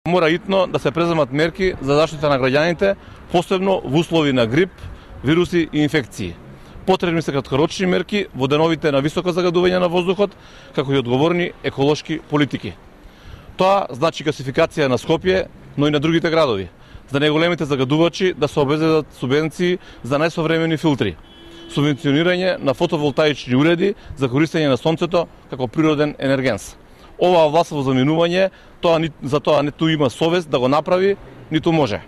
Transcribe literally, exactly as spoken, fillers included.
Мора итно да се преземат мерки за заштита на граѓаните, посебно во услови на грип, вируси и инфекции. Потребни се краткорочни мерки во деновите на високо загадување на воздухот, како и одговорни еколошки политики. Тоа значи гасификација на Скопје, но и на другите градови, за најголемите загадувачи да се обезбедат субвенции за најсовремени филтри, субвенционирање на фотоволтаични уреди за користење на сонцето како природен енергенс. Оваа власт во заминување, тоа за тоа ниту има совест да го направи, ниту може.